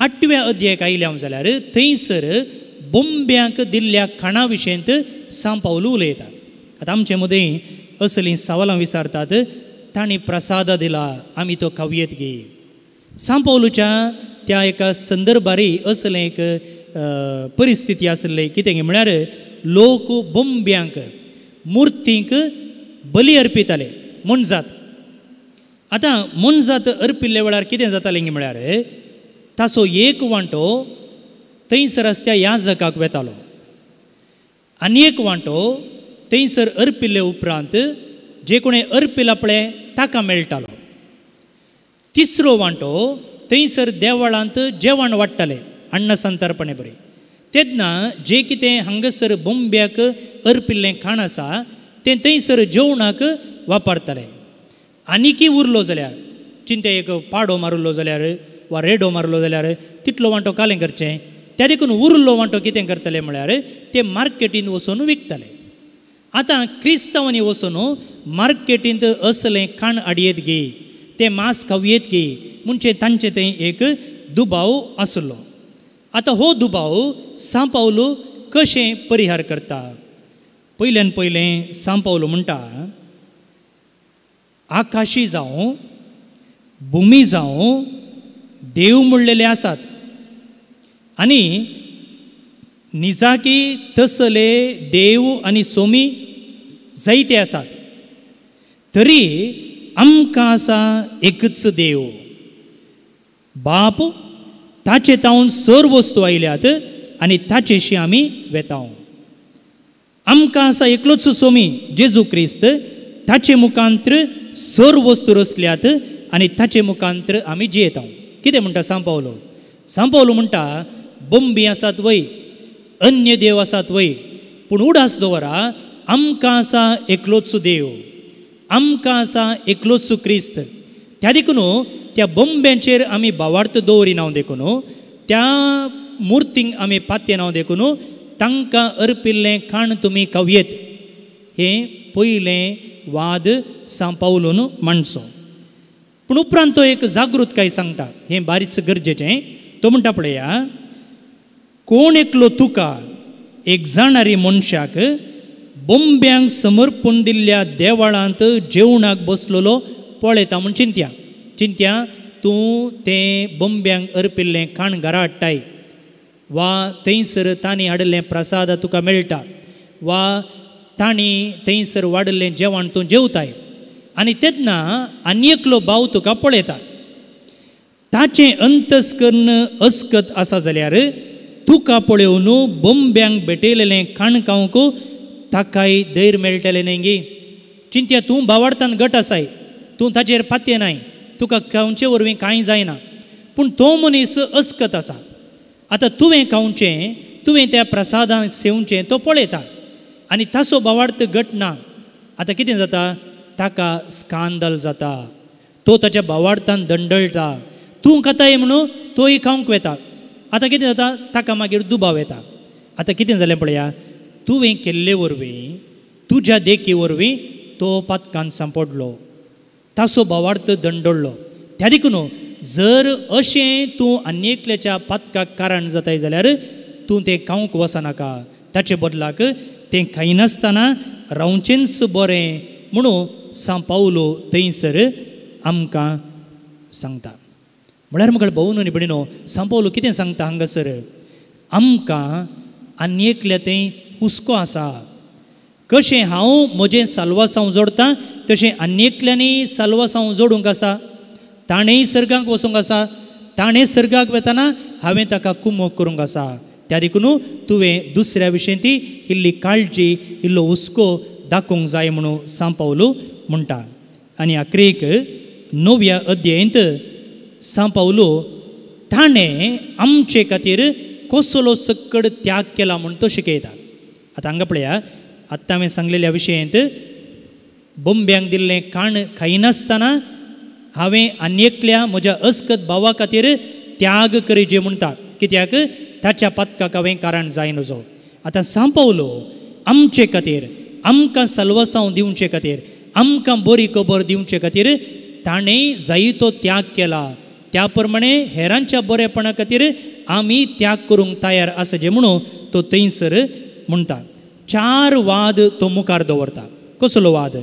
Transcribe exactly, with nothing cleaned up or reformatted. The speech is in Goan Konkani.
आठव्या अध्यायाक आयल्या जाल्यार थंयसर बोंब्यांक दिल्ल्या खाणा विशयंत सांव पावलू उलयता. आतां आमचे मदीं असलीं सवालां विचारतात, तांणी प्रसाद दिला आमी तो खावयेत गे. सांव पावलूच्या त्या एका संदर्भारी असलें एक परिस्थिती आसली कितें म्हळ्यार लोक बोंब्यांक मुर्तींक बली अर्पिताले मोनजात. आतां मोनजात अर्पिल्ल्या वेळार कितें जातालें म्हळ्यार ताचो एक वांटो थंयसर आसच्या याजकाक वेतालो आनी एक वांटो थंयसर अर्पिल्ले उपरांत जे कोणें अर्पिला पळय ताका मेळटालो. तिसरो वांटो थंयसर देवळांत जेवण वाडटाले अन्न संतर्पणे बरें. तेन्ना जें कितें हांगासर बोंब्याक अर्पिल्लें खाण आसा तें थंयसर जेवणाक वापरताले. आनीकी उरलो जाल्यार चिंते एक पाडो मारलो जाल्यार वा रेडो मारलो जाल्यार तितलो वांटो कालें करचें, त्या देखून उरलो वांटो कितें करतले म्हळ्यार ते मार्केटींत वचून विकताले. आतां क्रिस्तांवांनी वचून मार्केटींत असलें खाण हाडयेत गे, तें मांस खावयेत गे म्हणजे तांचे थंय एक दुबाव आसलो. आतां हो दुबाव सांव पावलू कशें परिहार करता? पयल्यान पयलें सांव पावलू म्हणटा, आकाशी जावं भुमी जावं देव म्हणलेले आसात आनी निजाकी तसले देव आनी सोमी जायते आसात, तरी आमकां आसा एकच देव बाप, ताचे तावन सर्व वस्तू आयल्यात आनी ताचेशी आमी वेताव. आमकां आसा एकलोच सोमी जेजू क्रिस्त, ताचे मुखांत्र सर्व वस्तू रचल्यात आनी ताचे मुखांत्र आमी जियेताव. कितें म्हणटा सांव पावलो? सांव पावलो म्हणटा बोंबी आसात वय, अन्य देव आसात वय, पूण उडास दवरा आमकां आसा एकलोच देव, आमकां आसा एकलोच क्रिस्त. त्या देखून त्या बोंब्यांचेर आमी भावार्थ दवरिना देखून, त्या मुर्तींक आमी पातयेना देखून तांकां अर्पिल्लें खाण तुमी खावयेत. हें पयलें वाद सांव पावलून मांडचो. पूण उपरांत तो एक जागृतकाय सांगता, हें बारीच गरजेचें. तो म्हणटा पळया, कोण एकलो तुका एक जाणारी मनशाक बोंब्यांक समर्पून दिल्ल्या देवळांत जेवणाक बसलेलो पळयता म्हूण चिंत्या. चिंत्या तूं तें बोंब्यांक अर्पिल्लें खाण घरा हाडटाय वा थंयसर तांणी हाडिल्लें प्रसाद तुका मेळटा वा तांणी थंयसर वाडिल्लें जेवण तूं जेवताय आनी तेन्ना आनी एकलो भाव तुका पळयता, ताचें अंतस्कर्ण अस्कत आसा जाल्यार तुका पळोवन बोंब्यांक भेटयलेलें खाण खावंक ताकाय धैर्य मेळटलें न्ही गे. चिंत्या तूं भावार्थान गट आसाय, तूं ताचेर पातयेनाय, तुका खावचे वरवीं कांय जायना, पूण तो मनीस अस्कत आसा. आतां तुवें खावचें, तुवें त्या प्रसादान सेवचें तो पळयता आनी ताचो भावार्थ गट ना. आतां कितें जाता? ताका स्कांदल जाता, तो ताच्या भावार्थान दंडळटा. तूं खाताय म्हणून तोय खावंक वेता. आतां कितें जाता? ताका मागीर दुबाव येता. आतां कितें जालें पळया, तुवें केल्ले वरवीं, तुज्या देखी वरवीं तो पातकान सांपडलो, ताचो भावार्थ दंडळ्ळो. त्या देखून जर अशें तूं आनी एकल्याच्या पातकाक कारण जाताय जाल्यार तूं तें खावंक वचनाका, ताचे बदलाक तें खायनासतना रावचेंच बरें म्हणून सांव पावलो थंयसर आमकां सांगता. म्हळ्यार म्हाका भोवन आनी भयणीनो, सांव पावलो कितें सांगता हांगासर? आमकां आनी एकल्या थंय हुस्को आसा, कशें हांव म्हजें साल्वासांव जोडटा तशें आनी एकल्यांनी साल्वासांव जोडूंक आसा, ताणेंय सर्गाक वचूंक आसा, ताणें सर्गाक वेतना हांवें ताका कुमोक करूंक आसा. त्या देखून तुवें दुसऱ्या विशयी ती इल्ली काळजी, इल्लो हुस्को दाखोवंक जाय म्हणून सांव पावलो म्हणटा. आनी आखरेक णव्या अध्यायंत सांव पावलो ताणें आमचे खातीर कसलो सक्कड त्याग केला म्हूण तो शिकयता. आतां हांगा पळया, आत्तां हांवें सांगलेल्या विशयंत बोंब्यांक दिल्लें खाण खायनासतना हांवें आनी एकल्या म्हज्या अस्कत भावा खातीर त्याग करीजे म्हणटा, कित्याक ताच्या पातकाक हांवें कारण जाय नजो. आतां सांव पावलो आमचे खातीर, आमकां साल्वासांव दिवचे खातीर, आमकां बरी खबर दिवचे खातीर ताणें जायतो त्याग केला. त्या प्रमाणे हेरांच्या बरेपणा खातीर आमी त्याग करूंक तयार आसा जे म्हणून तो थंयसर म्हणटा. चार वाद तो मुखार दवरता. कसलो वाद?